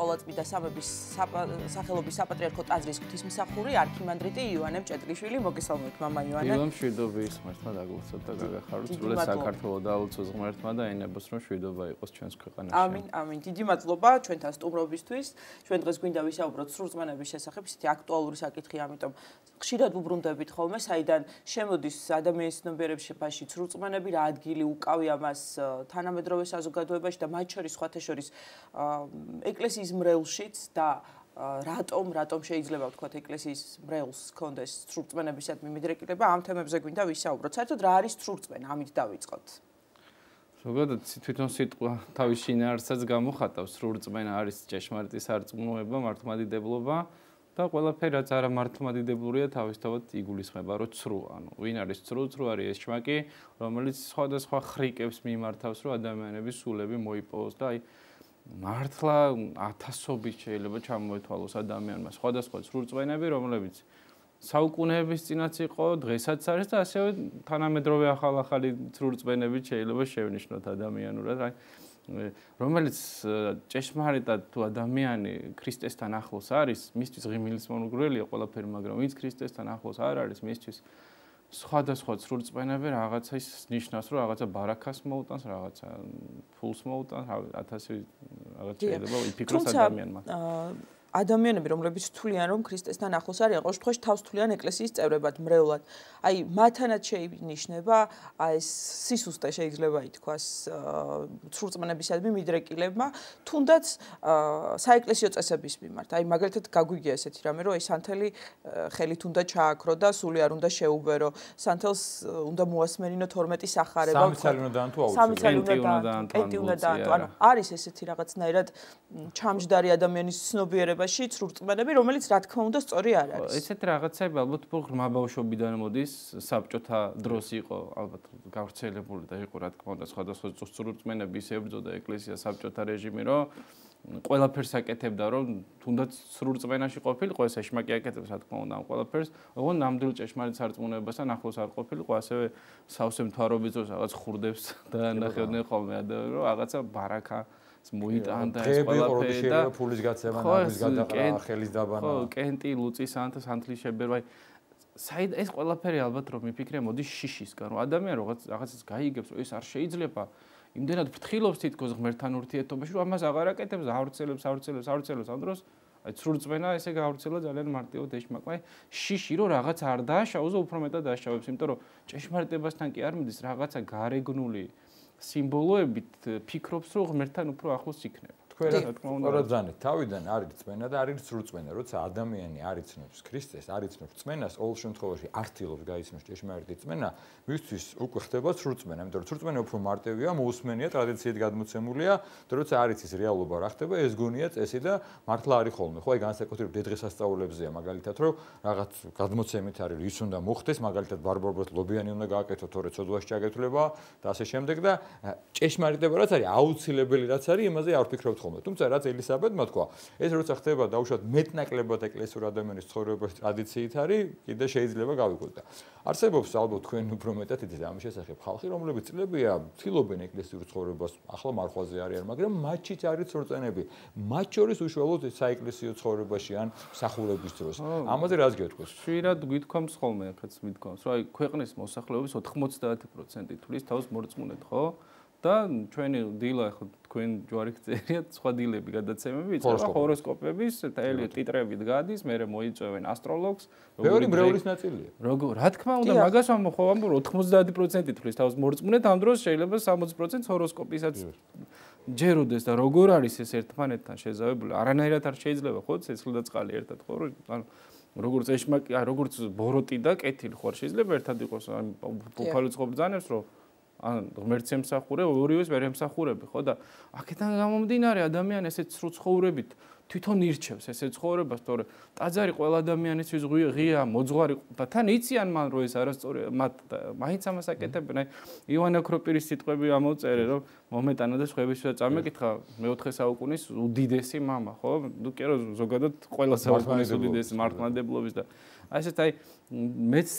ყოვლადწმიდა სამების სახელობის საპატრიარქო ტაძრის ღვთისმსახური არქიმანდრიტი იოანე მჭედლიშვილი. მოგესალმებით მამა იოანე. დილო მშვიდობის ღმერთმა დაგულოცოთ და გაგახაროთ სულ საქართველოს დაულოცოს ღმერთმა და ენებოს რომ მშვიდობა იყოს ჩვენს ქვეყანაში. ამინ, ამინ. დიდი მადლობა ჩვენთან სტუმრობისთვის. ჩვენ დღეს გვინდა ვისაუბროთ სრულწმენების შესახებ, ისეთი აქტუალური საკითხი, ამიტომ ხშირად უბრუნდებით ხოლმე, საიდან შემოდის ადამიანის ცნობიერებაში სრულწმენები, რა ადგილი უკავია მას თანამედროვე საზოგადოებაში და მათ შორის სხვათა შორის ეკლესიის მრევლშიც და რატომ შეიძლება ვთქვათ ეკლესიის მრევლს ჰქონდეს სრულწმენებისადმი მიდრეკილება, ამ თემებზე გვინდა ვისაუბროთ. საერთოდ რა არის სრულწმენა? ამით დავიწყოთ. ზოგადად თვითონ სიტყვა თავის შინაარსსაც გამოხატავს. სრულწმენა არის ჭეშმარიტი სარწმუნოება, მართლმადიდებლობა და ყველაფერი რაც არა მართლმადიდებლურია თავისთავად იგულისხმება, რომ ცრუ, ანუ ვინ არის ცრუ არის ეს ჭმაკი, რომელიც სხვადასხვა ხრიკებს მიმართავს, რომ ადამიანების სულები მოიპოვოს და აი მართლა ათასობით შეიძლება ჩამოეთვალოს ადამიანმა სხვადასხვა სრულწმენები, რომლებიც საუკუნეების წინაც იყო, დღესაც არის და ასევე თანამედროვე ახალ-ახალი სრულწმენები შეიძლება შევნიშნოთ ადამიანურად, აი რომელიც ჭეშმარიტად თუ ადამიანი ქრისტესთან ახლოს არის, მისთვის ღიმილის მონგრელია ყველაფერი, მაგრამ ვინც ქრისტესთან ახლოს არ არის, მისთვის სხვადასხვა სრულწმენები რაღაცა ის ნიშნავს, რომ რაღაცა ბარაქას მოუტანს, რაღაცა ფულს მოუტანს, ათასი რაღაც შეიძლება იფიქროს ადამიანმა. ადამიანები, რომლებიც თვლიან, რომ ქრისტესთან ახლოს არიან, ყოველ შემთხვევაში თავს თვლიან ეკლესიის წევრებად, მრევლად. აი, მათთანაც შეინიშნება ეს სისუსტე შეიძლება ითქვას სრულწმენებისადმი მიდრეკილებმა, თუნდაც საეკლესიო წესების მიმართ. აი, მაგალითად გაგვიგია ესეთი რამე, რომ სანთელი ხელით უნდა ჩააქრო და სული არ უნდა შეუბერო. სანთელს უნდა მოასმენინო 12 სახარება. სამი წელი უნდა დაანთო აუცილებლად. კენტი უნდა დაანთო. ანუ არის ესეთი რაღაცნაირად ჩამჯდარი ადამიანის ცნობიერება სრულწმენები, რომელიც რა თქმა უნდა სწორი არ არის. ესეთ რაღაცები ალბათ ღრმა ბავშვობიდან მოდის, საბჭოთა დროს იყო ალბათ გავრცელებული და იყო რა თქმა უნდა სხვადასხვა სრულწმენები ისე ებრძოდა ეკლესია საბჭოთა რეჟიმი, რომ ყველაფერს აკეთებდა, რომ თუნდაც სრულწმენაში ყოფილიყო, ეს ეშმაკი აკეთებს რა თქმა უნდა ამ ყველაფერს, ოღონდ ნამდვილ ჭეშმარიტ სარწმუნოებასთან ახლოს არ ყოფილიყო, ასევე სავსე მთავრობის დროს რაღაც ხურდებს და ნახევდნენ ხოლმე ადამიანები, რომ რაღაცა ბარაქა მოიტანდა ეს ყველაფერი და ფულის გაცემა, ნაბის გადაყრა, ხელის დაბანა. ხო, კენტი, ლუწი, სანთლის შებერვა. საიდ ეს ყველაფერი ალბათ რომ მიფიქრე მოდის შიშისგან, რომ ადამიანი რაღაცას გაიგებს, რომ ეს არ შეიძლება. იმდენად ფრთხილობს თითქოს ღმერთთან ურთიერთობაში, რომ ამას აღარ აკეთებს, ავრცელებს ამ დროს. აი სრულწმენა ესე გავრცელა ძალიან მარტივად ეშმაკმა. აი შიში რომ რაღაც არ დააშავოს, უფრო მეტად დააშავებს, იმიტომ რომ ჭეშმარიტებასთან კი არ მიდის რაღაცა გარეგნული სიმბოლოებით ფიქრობს, რომ ღმერთთან უფრო ახლოს იქნება. თქვენ თავიდან არის წმენა და არის სრულწმენა. როცა ადამიანი არ იცნობს ქრისტეს, არ იცნობს წმენას, ყოველ შემთხვევაში ართილობს გაიცნობს ჭეშმარიტი წმენა, მისთვის უკვე ხდება სრულწმენა. იმიტომ რომ სრულწმენა უფრო მარტივია, მოусმენია, ტრადიციით გადმოცემულია, და როცა არ იცის რეალობა რა ხდება, ეს გონია წესი და მართლა არის ხოლმე. ხო, აი განსაკუთრებით დღესასწაულებზეა, მაგალითად, რომ რაღაც გადმოცემით არის, ის უნდა მოხდეს, მაგალითად, ბარბარბოთ ლობიანი უნდა გააკეთო, თორე ცოდვაში ჩაგეთვლება და ასე შემდეგ და ჭეშმარიტება რაც არის, აუცილებელი რაც არის, იმაზე არ ვფიქრობთ ხოლმე. თუმცა რაც ელისაბედმა თქვა, ეს როცა ხდება დაუშვათ მეტნაკლებად ეკლესიურ ადამიანის ცხოვრებაში ტრადიციით არის, კიდე შეიძლება გავიგოთ და არსებობს ალბათ თქვენ უფრო მეტად იცით ამის შესახებ ხალხი, რომლებიც წლებია ცდილობენ ეკლესიურ ცხოვრებას, ახლა მარხვაზე არიან, მაგრამ მათშიც არის სრულწმენები. მათ შორის უშუალოდ საეკლესიო ცხოვრებაში ან მსახურების დროს. ამაზე რას გეტყვის? შვირად გვითქვამს ხოლმე, ახაც მithქვამს, რომ აი ქვეყნის მოსახლეობის 90% თვლის თავს მორწმუნედ, ხო? და ჩვენი დილა ახლა თქვენ ჯვარი გწერიათ, სხვა დილები გადაცემები, იწება ჰოროსკოპების, ელი ტიტრებით გადის, მე მოიწევენ ასტროლოგს, ბევრი მრევლის ნაწილია. როგორ, რა თქმა უნდა, მაგას ამოხოვამ, რომ 90% თვლის თავს მორწმუნედ, ამ დროს შეიძლება 60% ჰოროსკოპისაც ჯეროდეს და როგორ არის ეს ერთმანეთთან შეზავებული, არანაირად არ შეიძლება, ხო, ცეცხლი და წყალი ერთად, ხო, ანუ როგორც ეშმაკი, როგორც ბოროტი და კეთილი ხო არ შეიძლება ერთად იყოს, ან უფალო წყობ ბრძანებს, რომ ან ღმერთს ემსახურე, ორივეს ვერ ემსახურები, ხო და აქედან გამომდინარე ადამიანი ესეთ სრულ ცხოვრებით თვითონ ირჩევს ესეთ ცხოვრებას, თორე ტაძარი ყველა ადამიანისთვის ღია, მოძღვარი და თან იციან მან რომ ეს არასწორია, მაინც ამას აკეთებენ. აი ივანე ოქროპირის სიტყვები ამოწერე, რომ მომეტანა და სხვებისათვის წამეკითხა მე-4 საუკუნის უდიდესი მამა, ხო? ნუ კი რომ ზოგადად ყველა საუკუნის უდიდესი მართლმადებლობის და აი ესეთ აი მეც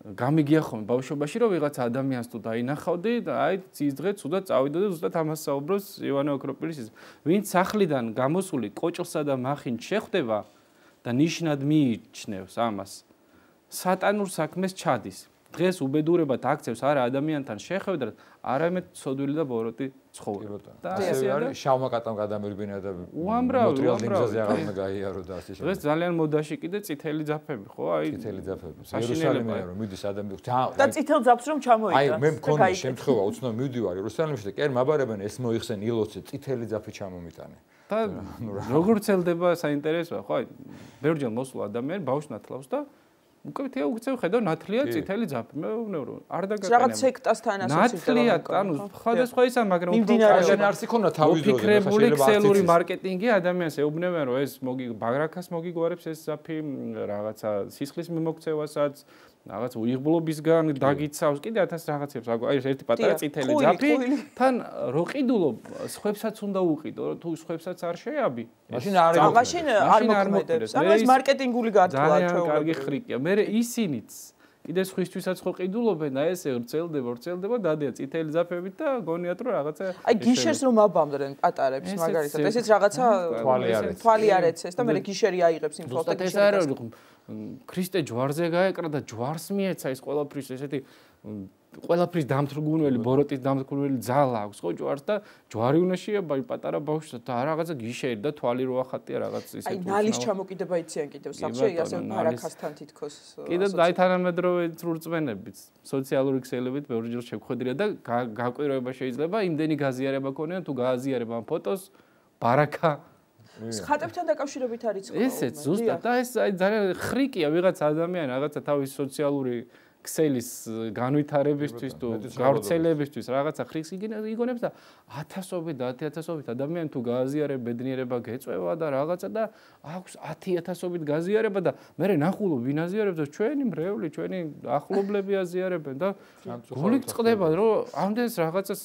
გამიგია ხოლმე ბავშვობაში რომ ვიღაცა ადამიანს თუ დაინახავდი და აი ის დღე ცუდად წავიდა და ზუსტად ამას საუბრობს ივანე ოქროპირის ის ვინც სახლიდან გამოსული კოჭლსა და მახინს შეხვდება და ნიშნად მიიჩნევს ამას სატანურ საქმეს ჩადის დღეს უბედურებად აქცევს არა ადამიანთან შეხვედრა არამედ ცოდვილი და ბოროტი ცხოვრება და ასე არის შავმა კატამ გადამერბინა და მოტრიალ დინგზაზე აღარ უნდა გაიარო და ასე დღეს ძალიან მოდაში კიდე წითელი ძაფები ხო აი წითელი ძაფები იერუსალიმიდან რომ მიდის ადამიანი და წითელ ძაფს რომ ჩამოიტანს აი მე მქონდა შემთხვევა უცნაური მივდივარ იერუსალიმში და კერ მაბარებენ ეს მოიხსენ ილოცე წითელი ძაფი ჩამომიტანე და როგორ ცელდება საინტერესოა ხო აი ბევრჯერ მოსულა ადამიანი ბავშვს ნათლავს და უკეთ უცევ ხედავ ნათლია წითელი ძაფი მე ვეუბნები არ დაგაკანე რაღაც სექტასთან ასოცირდება ნათლია ანუ სხვადასხვა ისა მაგრამ უკეთ არც იქონა თავის დროზე ფიქრებული ქსელური მარკეტინგი ადამიანს ეუბნებიან რომ ეს ბაგრაქას მოგიგوارებს ეს ძაფი რაღაცა სისხლის მიმოქცევასაც რაღაც უიღბლობისგან დაგიცავს კიდე 1000 რაღაცებს აი ერთი პატარა წითელი ძაფი თან რო ყიდულო სხვებსაც უნდა უყიდო თუ სხვებსაც არ შეაბი მაშინ არ მოქმედებს ანუ ეს მარკეტინგული გათვლა ჩვენ ძალიან კარგი ხრიკია მე ისინიც კიდე სხვისთვისაც ხო ყიდულობენ და ესე ვრცელდება დადია წითელი ძაფებით და გონიათ რომ რაღაცა აი გიშერს რომ აბამდრენ პატარებს მაგალითად ესეც რაღაცა თვალი არ ეცეს და მე გიშერი აიღებს იმ ფოტოს ეს არის ქრისტე ჯვარზე გაეკრა და ჯვარს მიეცა ის ყველაფრის ესეთი ყველაფრის დამთრგუნველი ბოროტის დამთრგუნველი ძალა აქვს ხო ჯვარს და ჯვარი უნდა შეაბა პატარა ბავშვს და რაღაცა გიშერი და თვალი რო ახატია რაღაც ისეთი აი ნალის ჩამოკიდება იციან კიდევ სახში ასე ბარაქასთან თითქოს კიდე აი თანამედროვე წვრწმენებით სოციალური ქსელებით ბევრჯერ შევხვედრია და გაკვირვება შეიძლება იმდენი გაზიარება ქონია თუ გააზიარება ამ ფოტოს ბარაქა ხატებთან დაკავშირებით არის ხო? ესეც ზუსტად და ეს აი ძალიან ხრიკია ვიღაც ადამიანი რაღაცა თავის სოციალური ქსელის განვითარებისთვის თუ გავრცელებისთვის რაღაცა ხრიკს იგონებს და 1000-ობით და 10000-ობით ადამიანი თუ გააზიარებ ბედნიერება გეწევა და რაღაცა და აქვს 10000-ობით გაზიარება და მე ნახულობ ვინ აზიარებს და ჩვენი მრევლი ჩვენი ახლობლები აზიარებენ და გული წყდება რომ ამდენს რაღაცას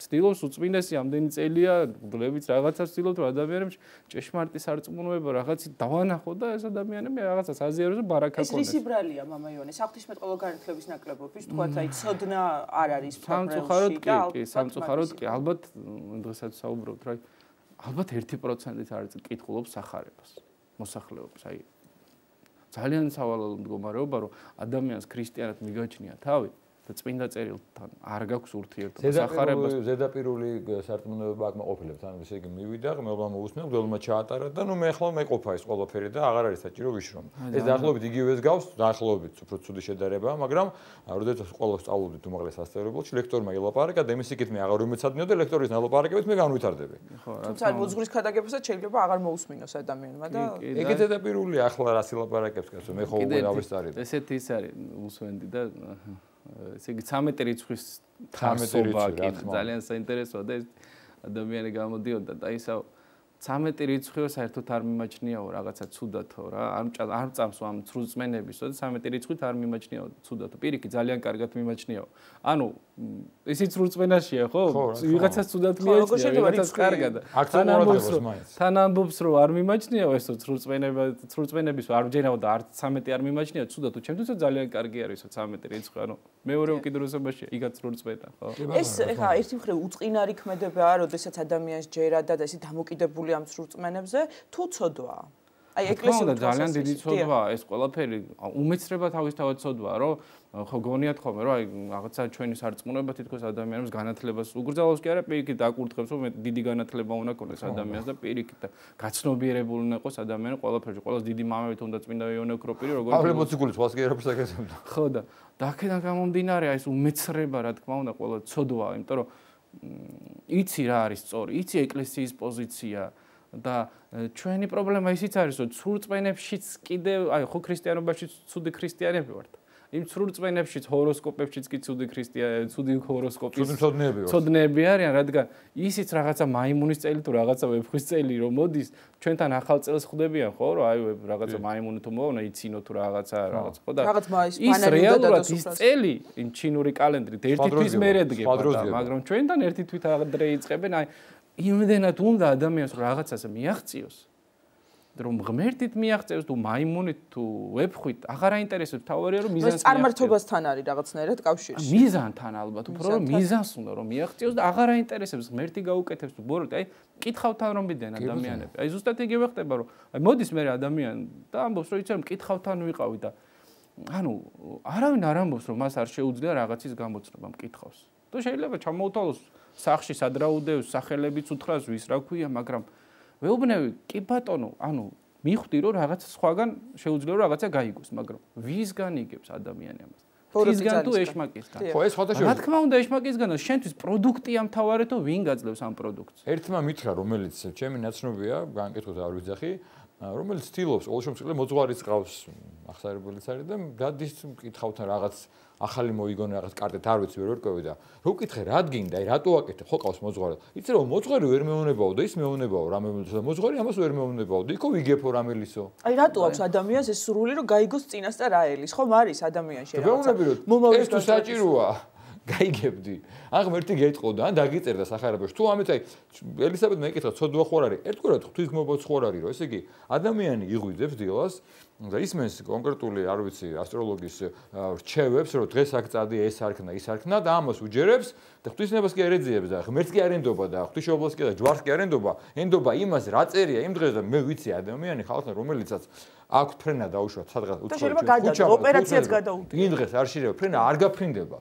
ცდილობს უწმინდესი ამდენი წელია გლებიც რაღაცას ცდილობს რომ ადამიანებს ჭეშმარიტი სარწმუნოება რაღაცით დავანახო და ეს ადამიანები რაღაცას აზიარებს და ბარაქა ქონდეს. ეს რის იბრალია მამა იონე? საღვთისმეტყველო განათლების ნაკლებობის თქვათ აი ცოდნა არ არის სამწუხაროდ კი, სამწუხაროდ კი, ალბათ დღესაც საუბრობთ რა ალბათ 1%-ით არის კითხულობს სახარებას, მოსახლეობის, აი ძალიან სავალალო მდგომარეობა რომ ადამიანს ქრისტიანად მიგაჩნია თავი და წმინდა წერილთან არ გაქვს ურთიერთობა სახარებას ზედაპირული სარწმუნოება აქ მოყოფილებს ანუ ესე იგი მივიდა მეუბნა მოусმენ გველმა ჩაატარა და ნუ მე ახლა მეყოფა ეს ყველაფერი და აღარ არის საჭირო ვიშრომ ეს დაახლოებით იგივეს გავს დაახლოებით უფრო ცუდი შედარება მაგრამ როდესაც ყოველს სწავლობდით უმაღლეს სასწავლებელში ლექტორმა ილაპარაკა და იმის იქით მე აღარ უმეცადინეო და ლექტორის ნალაპარაკებით მე განვითარდები თუმცა მოძღვრის ქადაგებასაც შეიძლება აღარ მოусმინოს ადამიანმა და ეგეც ზედაპირულია ახლა რას ილაპარაკებს კაცო მე ხო უკვე დავესწარი ესეთი ის არის უსვენდი და ესე იგი 13 რიცხვის თარსობა ძალიან საინტერესოა და ეს ადამიანი გამოდიოდა და ისა 13 რიცხვიო საერთოდ არ მიმაჩნიაო რაღაცა ცუდათო რა არ წამს ამ ცრუწმენებისო და 13 რიცხვით არ მიმაჩნიაო ცუდათო პირიქით ძალიან კარგად მიმაჩნიაო ანუ ისიც ცრუწმენაშია ხო ვიღაცას ცუდად მიაჩნია ვიღაცას კარგად თან ამბობს რომ არ მიმაჩნიაო ესო ცრუწმენების არ ვჯერაო და არც 13 არ მიმაჩნია ცუდათო ჩემთვის ძალიან კარგი არისო 13 რიცხვი ანუ მეორე უკიდურესობაშია იგაც ცრუწმენა ხო ეს ეხა ერთი მხრივ უწყინარი ქმედებაა როდესაც ადამიანს ჯერა და ესე დამოკიდებული ამ ცრუწმენებზე თუ ცოდვაა აი ეკლესიური ძალიან დიდი ცოდვაა ეს ყველაფერი უმეცრება თავისთავად ცოდვაა რომ ხო გონიათ ხოლმე რომ აი რაღაცა ჩვენი სარწმუნოება თითქოს ადამიანებს განათლებას უგრძელავს კი არა პირიქით აკურთხებს რომ დიდი განათლება უნდა ქონდეს ადამიანს და პირიქით და გაცნობიერებული უნდა იყოს ადამიანი ყველაფერში ყველას დიდი მამებით უნდა წმინდა იონე ოქროპირი როგორც პავლე მოციქულის თვალს კი არაფერს აკეთებდა ხო და აქედან გამომდინარე აი ეს უმეცრება რა თქმა უნდა ყველა ცოდვაა იმიტომ რომ იცი რა არის სწორი იცი ეკლესიის პოზიცია და ჩვენი პრობლემა ისიც არის რომ ცრუწმენებშიც კიდე აი ხო ქრისტიანობაში ცუდი ქრისტიანები ვართ იმ ცრუწმენებშიც ჰოროსკოპებშიც კი ცუდი ქრისტიანები ცუდი ჰოროსკოპის ცოდნეები არიან რადგან ისიც რაღაცა მაიმუნის წელი თუ რაღაცა ვეფხვის წელი რომ მოდის ჩვენთან ახალ წელს ხვდებიან ხო რომ აი რაღაცა მაიმუნი თუ მოვა იცინო თუ რაღაცა ხო და ის რეალურად ის წელი იმ ჩინური კალენდრით ერთი თვის მერე დგება მაგრამ ჩვენთან ერთი თვით ადრე იწყებენ აი იმდენად უნდა ადამიანს რომ რაღაცას მიაღწიოს რომ ღმერთით მიაღწევს თუ მაიმუნით თუ ვეფხვით აღარ აინტერესებს თავარია რომ მიზანს წარმართობასთან არის რაღაცნაირად კავშირში მიზანთან ალბათ უფრო რომ მიზანს უნდა რომ მიაღწევს და აღარ აინტერესებს ღმერთი გაუკეთებს თუ ბოროტი აი კითხავთან რომ მიდიან ადამიანები აი ზუსტად იგივე ხდება რომ აი მოდის მე ადამიანი და ამბობს რომ იცი რომ კითხავთან ვიყავი და ანუ არავინ არ ამბობს რომ მას არ შეუძლია რაღაცის გამოცნობა მკითხავს თუ შეიძლება ჩამოუთვალოს სახში სადრაუდევს სახელებიც უთხრას ვის რა ქვია მაგრამ ვეუბნები კი ბატონო ანუ მიხვდი რომ რაღაც სხვაგან შეუძლია რომ რაღაცა გაიგოს მაგრამ ვისგან იგებს ადამიანი ამას ფიზგან თუ ეშმაკისგან ხო ეს ხოთაშორი რა თქმა უნდა ეშმაკისგან შენთვის პროდუქტია მთავარეთო ვინ გაძლევს ამ პროდუქტს ერთმა მითხრა რომელიც ჩემი ნაცნობია განკითხოთ არ ვიძახი რომელიც ცდილობს ყოველშემთხვევაში მოძღვარის ყავს ახსარებელიც არის და დადის მკითხავთან რაღაც ახალი მოიგონა რაღაც კარტეთ არ ვიცი ვერ ვერკვევი და რო ვკითხე რა გინდა აი რატო აკეთებ ხო ყავს მოძღვარი იცი რომ მოძღვარი ვერ მეუნებაო და ის მეუნებაო რა მეუნებაო მოძღვარი ამას ვერ მეუნებაო და იქო ვიგებო რამელისო აი რატო აქვს ადამიანს ეს სრული რომ გაიგოს წინასწარ რა ელის ხომ არის ადამიანში რაღაცა ეს თუ საჭიროა გაიგებდი. ან ღმერთი გეტყოდა, ან დაგიწერდა სახარებაში. თუ ამით აი ელისაბედ მეკითხა, ცოდვა ხო არ არის? ერთგვარად ღვთისმოբაც ხო არ არის, რომ ესე იგი ადამიანი იღვიძებს დილას და ისმენს კონკრეტული, არ ვიცი, ასტროლოგის რჩევებს, რომ დღეს აქ წადი, ეს არქნა, ის არქნა და ამას უჯერებს და ღვთისნებას კი არ ეძიებს და ღმერთს კი არ ენდობა და ღვთისმშობლს კი და ჯვარს კი არ ენდობა. ენდობა იმას, რა წერია იმ დღეს და მე ვიცი ადამიანი ხალხი, რომელიცაც აქვს ფრენა დაუშვათ სადღაც უცხოეთში. ოპერაციაც გადაუდგა. იმ დღეს არ შეიძლება, ფრენა არ გაფრინდება.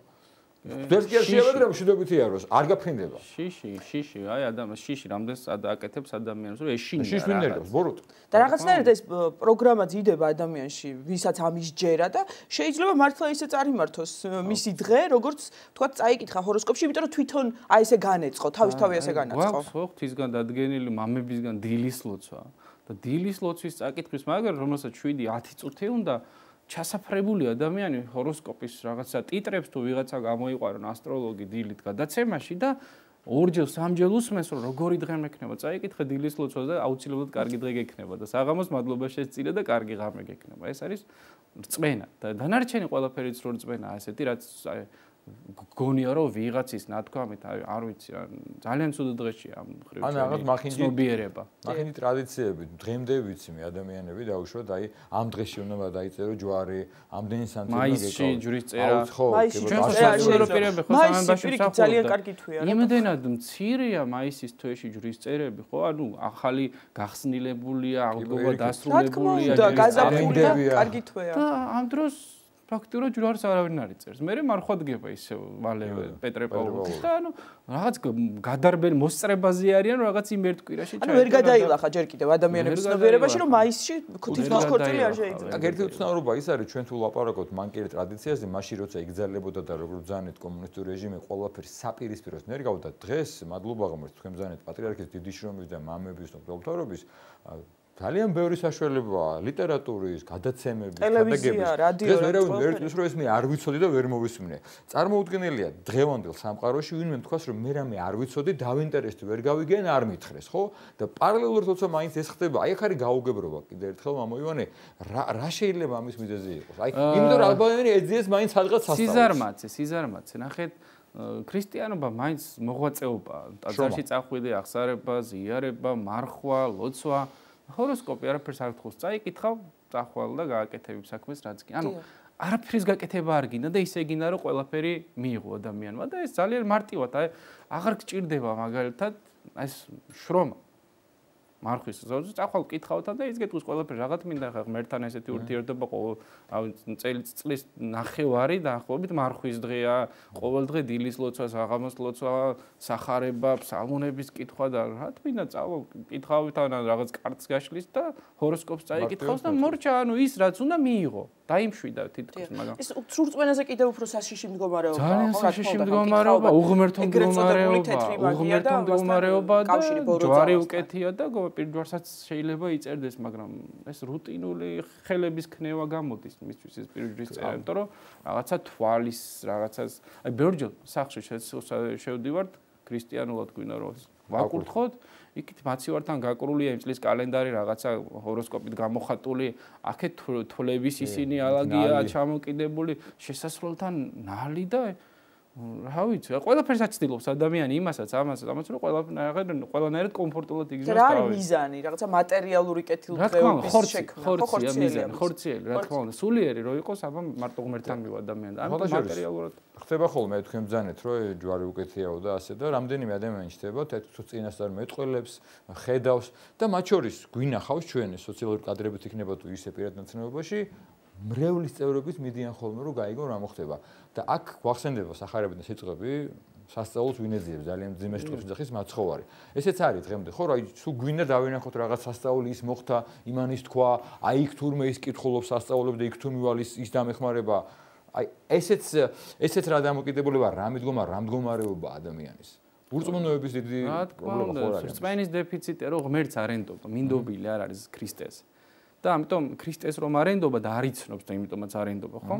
დერს კი არ შეიძლება რომ შედობითი აროს, არ გაფრინდება. შიში, აი ადამიანს შიში რამდენს აკეთებს ადამიანს, რომ ეშინია. შიში მინერავს, ბოროტ. და რაღაცნაირად ეს პროგრამა ძიდება ადამიანში, ვისაც ამის ჯერა და შეიძლება მართლა ისე წარიმართოს მისი დღე, როგორც თქვა წაიკითხა ჰოროსკოპში, იმიტომ რომ თვითონ აი ესე განეწყო, თავისთავი ესე განაწყო. გვაქვს ხო ღვთისგან დადგენილი მამებისგან დილის ლოცვა და დილის ლოცვის წაკითხვის მაგრამ რომელსაც 7-10 წუთი უნდა ჩასაფრებული ადამიანი ჰოროსკოპის რაღაცა ტიტრებს თუ ვიღაცა გამოიყვარონ ასტროლოგი დილით გადაცემაში და ორჯერ სამჯერ უსმენს რომ როგორი დღე მექნება წაიკითხე დილის ლოცვას და აუცილებლად კარგი დღე გექნება და საღამოს მადლობა შეწირე და კარგი ღამე გექნება ეს არის რწმენა და დანარჩენი ყველაფერიც რო რწმენაა ესეთი რაც გონია რომ ვიღაცის ნათქვამით არ ვიცი რა ძალიან ცუდ დღეში ამ ხრივ ან რაღაც მახინჯიერება მახინჯი ტრადიციები დღემდე ვიცი მე ადამიანები დაუშვათ აი ამ დღეში უნდა დაიწერო ჯვარი ამდენი სანთი უნდა გეკავოს მაისში ჯვრის წერა მაისში ჯვრის წერა მაისში ძალიან კარგი თვეა რა იმდენად მცირეა მაისის თვეში ჯვრის წერები ხო ანუ ახალი გახსნილებულია აღდგომა დასრულებულია და გაზაფხულია კარგი თვეა და ამ დროს ფაქტურად ჯვარს არავინ არ იწერს. მე მარხვადგება ისე მალევე პეტრე პაულოვი და ანუ რაღაც გადარბენ მოსწრებაზე არიან რაღაც იმ ერთ კვირაში ჩაი. ანუ ვერ გადაილახა ჯერ კიდევ ადამიანების ცნობიერებაში რომ მაისში თითქოს ქორწილი არ შეიძლება. აქ ერთი უცნაურობა ის არის ჩვენ თუ ლაპარაკობთ მანკიერი ტრადიციაზე, მაშინ როცა იგზალებოდა და როგორ ბრძანეთ კომუნისტური რეჟიმი ყველაფერი საპირისპიროს ნერგავდა დღეს მადლობა ღმერთს თქვენ ბრძანეთ პატრიარქის დიდი შრომის და მამების და მღვდელმთავრობის ძალიან ბევრი საშუალებაა ლიტერატურის, გადაცემების, ტელევიზია, რადიო, ვერავინ ვერ რომ ეს მე არ ვიცოდი და ვერ მოვისმინე. წარმოუდგენელია დღევანდელ სამყაროში ვინმე თქვას რომ მე რამე არ ვიცოდი, დავინტერესდი, ვერ გავიგენ, არ მითხრეს, ხო? და პარალელურად თორსა მაინც ეს ხდება. აი ახ არის გაუგებრობა კიდე ერთხელ მამა ივანე, რა შეიძლება ამის მიზეზი იყოს? აი იმიტომ რომ ალბანელი ეძიეს მაინც სადღაც სასწაულს. სიზარმაცე, ნახეთ ქრისტიანობა მაინც მოღვაწეობა, ტაძარში წახვიდე, აღსარება, ზიარება, მარხვა, ლოცვა ჰოროსკოპი არაფერს არ გთხოვს, წაიკითხავ, წახვალ და გააკეთებ საქმეს რაც კი. ანუ არაფრის გაკეთება არ გინდა და ისე გინდა რომ ყველაფერი მიიღო ადამიანმა და ეს ძალიან მარტივად, აი აღარ გჭირდება მაგალითად ეს შრომა. მარხვის ზოგი წახვალ კითხავთან და ის გეტყვის ყველაფერი რაღაც მინდა ხა ღმერთთან ესეთი ურთიერთობა წლის ნახევარი დაახლოებით მარხვის დღეა, ყოველ დღე დილის ლოცვა, საღამოს ლოცვა, სახარება, ფსალმუნების კითხვა და რა თქმა უნდა წავალ კითხავითან რაღაც კარტს გაშლის და ჰოროსკოპს წაიკითხავს და მორჩა, ანუ ის რაც უნდა მიიღო. დაიმშვიდა თითქოს მაგრამ ეს სრულწმენაზე კიდევ უფრო საშიში მდგომარეობა ძალიან საშიში მდგომარეობა უღმერთო მდგომარეობა და ჯვარი უკეთია და პირჯვარსაც შეიძლება იწერდეს მაგრამ ეს რუტინული ხელების ქნევა გამოდის მისთვის ეს პირჯვრის წერა იმიტომ რომ რაღაცა თვალის რაღაცას აი ბევრჯერ სახში შევდივართ ქრისტიანულად გვინდა რომ ვაკურთხოთ იქით მაცივართან გაკრულია იმ წლის კალენდარი რაღაცა ჰოროსკოპით გამოხატული აქეთ თვლების ისინი ალაგია ჩამოკიდებული შესასვლელთან ნალი და რა ვიცი, ყველაფერს აცდილობს ადამიანი იმასაც, ამასაც, რომ ყველანაირად კომფორტულად იგრძნოს თავი. რა არის მიზანი? რაღაცა მატერიალური კეთილდღეობის შექმნა, ხორციელი, რა თქმა უნდა, სულიერი რო იყოს, აბა მარტო ღმერთთან მივა ადამიანი. ამიტომ მატერიალურად ხდება ხოლმე თქვენ ბძანეთ, რომ ჯვარი უკეთიაო და ასე და რამდენიმე ადამიანი ჩდება, თუ წინასწარ მეტყველებს, ხედავს და მათ შორის გვინახავს ჩვენ სოციალური კადრებით იქნება თუ ისე პირად ნაცნობობაში მრევლის წევრობით მიდიან ხოლმე რომ გაიგონ რა მოხდება და აქ გვახსენდება სახარებიდან სიტყვები სასწაულს ვინ ეძიებს ძალიან ძიმე სიტყვებს ძახის მაცხოვარი ესეც არის დღემდე ხო რა თუ გვინდა დავინახოთ რაღაც სასწაული ის მოხდა იმანის თქვა აი იქ თურმე ის კითხულობს სასწაულებს და იქ თუ მივალ ის დამეხმარება აი ესეც რა დამოკიდებულება რა მდგომარეობა ადამიანის ურწმუნოების დიდი პრობლემა ხო არის რწმენის დეფიციტი რომ ღმერთს არ ენდობა მინდობილი არ არის ქრისტეს და ამიტომ ქრისტეს რომ არ ენდობა და არ იცნობს და იმიტომაც არ ენდობა ხო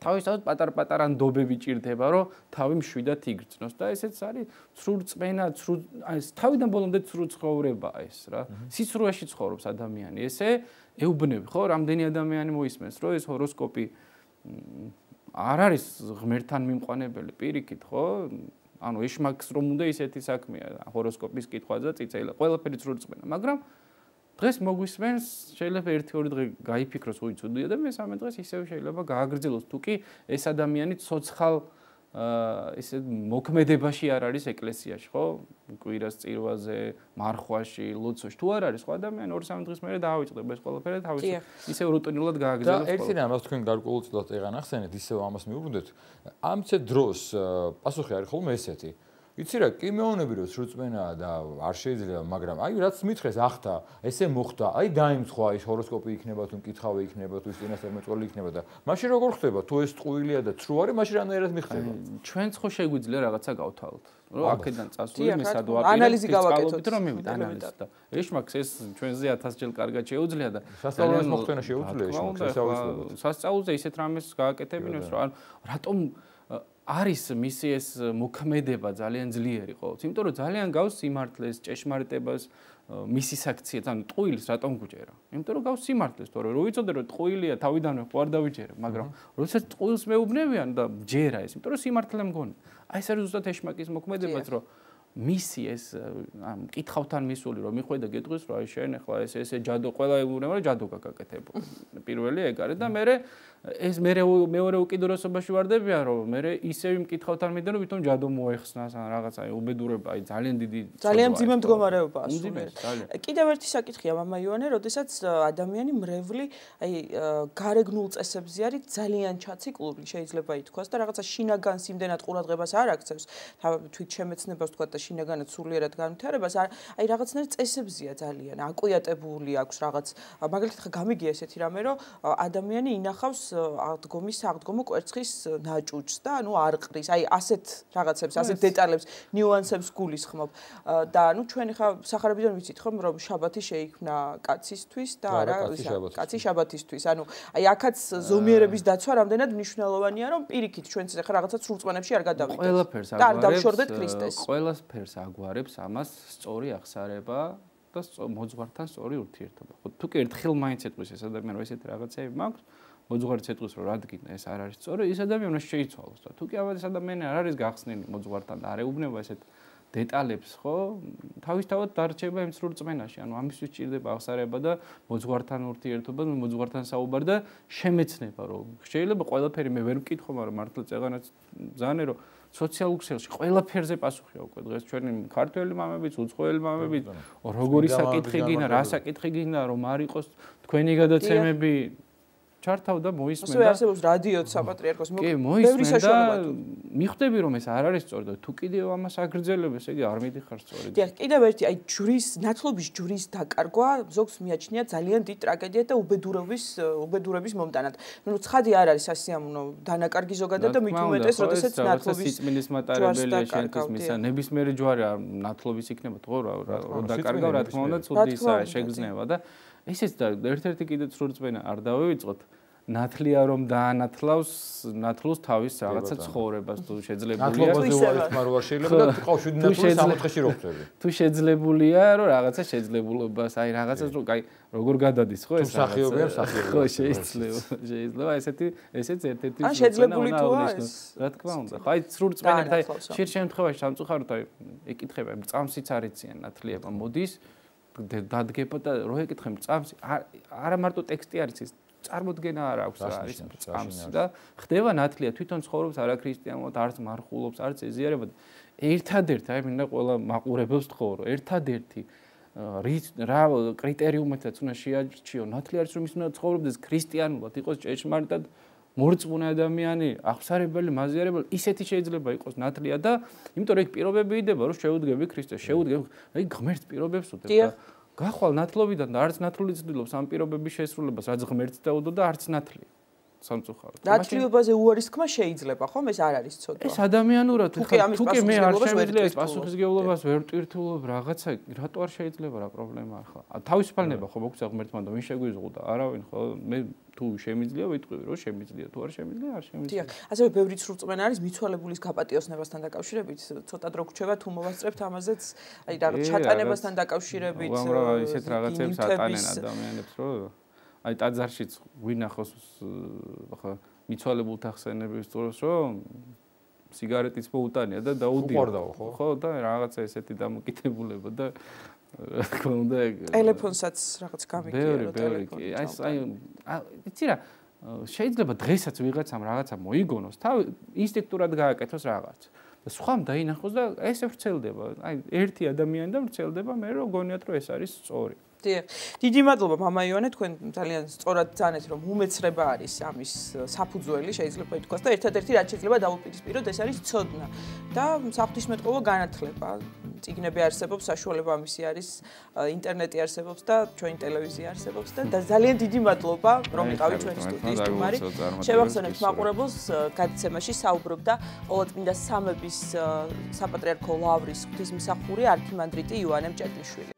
თავისთავად პატარ-პატარა ნდობები ჭირდება რომ თავი მშვიდად იგრძნოს და ესეც არის ცრუ რწმენა ცრუ აი თავიდან ბოლომდე ცრუ ცხოვრებაა ეს რა სიცრუეში ცხოვრობს ადამიანი ესე ეუბნები ხო რამდენი ადამიანი მოისმენს რომ ეს ჰოროსკოპი არ არის ღმერთთან მიმყვანებელი პირიქით ხო ანუ ეშმაკს რომ უნდა ისეთი საქმეა ჰოროსკოპის კითხვა და წიწელა ყველაფერი ცრუ რწმენა მაგრამ დღეს მოგვისმენს შეიძლება 1-2 დღე გაიფიქროს უიცოდია და მესამე დღეს ისევ შეიძლება გააგრძელოს თუ კი ეს ადამიანი ცოცხალ ესე მოქმედებაში არ არის ეკლესიაში ხო კვირას წირვაზე მარხვაში ლოცვაში თუ არ არის ხო ადამიანი 2-3 დღის მერე დაავიწყდება ეს ყველაფერი და თავის ისევ რუტინულად გააგრძელოს და ერთი რამაც თქვენ გარკვეულწილად ეღან ახსენეთ ისევ ამას მიუბრუნდეთ ამცე დროს პასუხი არის ხოლმე ესეთი იცი რა კი მეუბნები რომ სრულწმენაა და არ შეიძლება მაგრამ აი რაც მითხრეს ახთა ესე მოხდა აი დაიმცხვა ის ჰოროსკოპი იქნება თუ მკითხავი იქნება თუ წინასწარ მეწყვლელი იქნება და მაშინ როგორ ხდება თუ ეს ტყუილია და ცრუ არის მაშინ რანაირად მიხდება ჩვენც ხო შეგვიძლია რაღაცა გავთავოთ რომ აქედან წასული მე სად ანალიზი გავაკეთოთ რომ მივიდეთ ანალიზი და ეშმაკს ეს ჩვენზე 1000 ჯერ კარგად შეუძლია და სასწაულს მოხდენა შეუძლია ეშმაკს სასწაულზე ისეთ რამეს გააკეთებინოს რომ რატომ არის მისი ეს მოქმედება ძალიან ძლიერი ყოველთვის, იმიტომ რომ ძალიან გავს სიმართლეს, ჭეშმარიტებას, მისი საქციეთ, ანუ ტყუილს რატომ გუჭერა? იმიტომ რომ გავს სიმართლეს, თორე რო ვიცოდე რომ ტყუილია თავიდანვე ხო არ დავიჯერებ, მაგრამ როდესაც ტყუილს მეუბნებიან და ჯერა ეს, იმიტომ რომ სიმართლე მგონი. აი ეს არის ზუსტად ეშმაკის მოქმედებაც, რომ მისი ეს მკითხავთან მისული რომ მიხვედა გეტყვის რომ აი შენ ახლა ესე ჯადო ყველა ეუბნება რომ ჯადო გაკეთებო. პირველი ეგ არის და მე ეს მეორე უკიდურესობაში ვარდებიან რომ მე ისევ მკითხავთან მიდენ რომ ვითომ ჯადო მოეხსნას ან რაღაც აი უბედურება აი ძალიან დიდი ძალიან ძიმე მდგომარეობაა კიდევ ერთი საკითხია მამა იოანე როდესაც ადამიანი მრევლი აი გარეგნულ წესებზე არის ძალიან ჩაციკლული შეიძლება ითქვას და რაღაცა შინაგანს იმდენად ყურადღებას არ აქცევს თვით შემეცნებას თქვა და შინაგანად სულიერად განვითარებას აი რაღაცნაირ წესებზია ძალიან აკვიატებული აქვს რაღაც მაგალითად ხა გამიგია ესეთი რამე რომ ადამიანი ინახავს აღდგომო კვერცხის ნაჭუჭს და ანუ არყრის აი ასეთ რაღაცებს ასეთ დეტალებს ნიუანსებს გულისხმობ და ანუ ჩვენ ხა სახარებიდან ვიცით ხომ რომ შაბათი შეიქმნა კაცისთვის და არა კაცი შაბათისთვის ანუ აი აქაც ზომიერების დაცვა რამდენად მნიშვნელოვანია რომ პირიქით ჩვენც ხა რაღაცა სრულწმენებში არ გადავიდეთ და არ დავშორდეთ ქრისტეს ყველაფერს აგვარებს ამას სწორი აღსარება და მოძღვართან სწორი ურთიერთობა ხო თუ კი ერთხელ მაინც ეტყვის ეს ადამიანი რომ ესეთი რაღაცები მაქვს მოძღვარიც ეტყვის რომ რადგან ეს არ არის სწორი ეს ადამიანი შეიცვალოს და თუ კი ეს ადამიანი არ არის გახსნილი მოძღვართან და არ ეუბნება ესეთ დეტალებს ხო თავისთავად დარჩება იმ სრულ რწმენაში ანუ ამისთვის ჭირდება აღსარება და მოძღვართან ურთიერთობა მოძღვართან საუბარი და შემეცნება რომ შეიძლება ყველაფერი მე ვერ ვკითხო მაგრამ მართლა წეღანაც ზანე რომ სოციალურ ქსელში ყველაფერზე პასუხია უკვე დღეს ჩვენი ქართველი მამებიც, უცხოელი მამებიც, როგორი საკითხი გინდა, რა საკითხი გინდა, რომ არ იყოს თქვენი გადაცემები ჩართავ და მოისმენ და ასე არსებობს რადიოც საპატრიარქოს ბევრი საშუალება მიხვდები რომ ეს არ არის სწორი და თუ კიდევ ამას აგრძელებ ესე იგი არ მიდიხარ სწორი. დიახ, კიდევ ერთი აი ჯვრის ნათლობის ჯვრის დაკარგვა ზოგს მიაჩნია ძალიან დიდ ტრაგედიად და უბედურების მომტანად. ნუ ცხადი არ არის სასიამოვნო დანაკარგი ზოგადად და მით უმეტეს როდესაც ნათლობის სიწმინდის მატარებელია შენთვის მისა ნებისმიერი ჯვარი ნათლობის იქნება თქო რა დაკარგავ რა თქმა უნდა ცუდი ისაა შეგრძნება და ესეც და ერთ-ერთი კიდე სრულწმენა არ დავივიწყოთ ნათლია რომ დაანათლავს ნათლოს თავის რაღაცა ცხოვრებას თუ შეძლებულია ნათლობაზე უარესმა რო არ შეიძლება და თყავ 7 ნათლს 60-ში რო ხდები თუ შეძლებულია რომ რაღაცა შეძლებულობას აი რაღაცას რო აი როგორ გადადის ხო ეს მსახიობია ხო შეიძლება ესეც ერთ-ერთი ან შეძლებული თუა ეს რა თქმა უნდა ხო აი სრულწმენად აი ხშირ შემთხვევაში სამწუხაროდ აი ეკითხება წამსიც არიციან ნათლიება მოდის დადგება და რო ეკითხებ წამსი არა მარტო ტექსტი არის ეს წარმოდგენა არ აქვს რა არის წამსი და ხდება ნათლია თვითონ ცხოვრობს არა ქრისტიანულად არც მარხულობს არც ეზიარება ერთადერთი აი მინდა ყველა მაყურებელს თხოვ რომ ერთადერთი რა კრიტერიუმებიც უნდა შეარჩიო ნათლია არის რომ ის უნდა ცხოვრობდეს ქრისტიანულად იყოს ჭეშმარიტად მორწმუნე ადამიანი აღსარებელი მაზიარებელი ისეთი შეიძლება იყოს ნათლია და იმიტომ რომ ეგ პირობები იდება რომ შეუდგები ქრისტეს შეუდგები აი ღმერთს პირობებს უდებ და გახვალ ნათლობიდან და არც ნათლული ცდილობს ამ პირობების შესრულებას რაც ღმერთს დაუდო და არც ნათლია სამწუხაროდ ნათლიობაზე უარის თქმა შეიძლება ხომ ეს არ არის ცოდვა ეს ადამიანურად თუ კი მე არ შემიძლია ეს პასუხისგებლობას ვერ ტვირთულობ რაღაცა რატო არ შეიძლება რა პრობლემა ახლა თავისუფალნება ხო მოგცა ღმერთმა და ვინ შეგვიზღუდა არავინ ხო მე თუ შემიძლია ვიტყვი რომ შემიძლია თუ არ შემიძლია არ შემიძლია დიახ ასევე ბევრი სრულწმენა არის მიცვალებულის გაპატიოსნებასთან დაკავშირებით ცოტა დრო გვჩება თუ მოვასწრებთ ამაზეც აი რაღაც ჩატანებასთან დაკავშირებით უამრავ ისეთ რაღაცებს ატანენ ადამიანებს რომ აი ტაძარშიც ვინახოს ხო მიცვალებულთა ხსენების დროს რომ სიგარეტის მოუტანია და დაუდიო ხო და რაღაცა ესეთი დამოკიდებულება და რა თქმა უნდა ტელეფონსაც რაღაც გამიგია რომ ტელეფონი აი იცი რა შეიძლება დღესაც ვიღაცამ რაღაცა მოიგონოს თავი ინსტინქტურად გააკეთოს რაღაც და სხვამ დაინახოს და ესე ვრცელდება აი ერთი ადამიანი და ვრცელდება მე რომ გონიათ რომ ეს არის სწორი დიდი მადლობა მამა იონე თქვენ ძალიან სწორად ძანეთ რომ უმეცრება არის ამის საფუძველი შეიძლება ითქვას და ერთადერთი რაც შეიძლება დაუპირისპიროთ ეს არის ცოდნა და საღვთისმეტყველო განათლება წიგნები არსებობს საშუალება ამისი არის ინტერნეტი არსებობს და ჩვენი ტელევიზია არსებობს და ძალიან დიდი მადლობა რომ იყავით ჩვენი სტუდიის სტუმარი შევახსენებთ მაყურებელს გადაცემაში საუბრობდა ყოველწმინდა სამების საპატრიარქო ლავრის ღვთისმსახური არქიმანდრიტი იოანე მჭედლიშვილი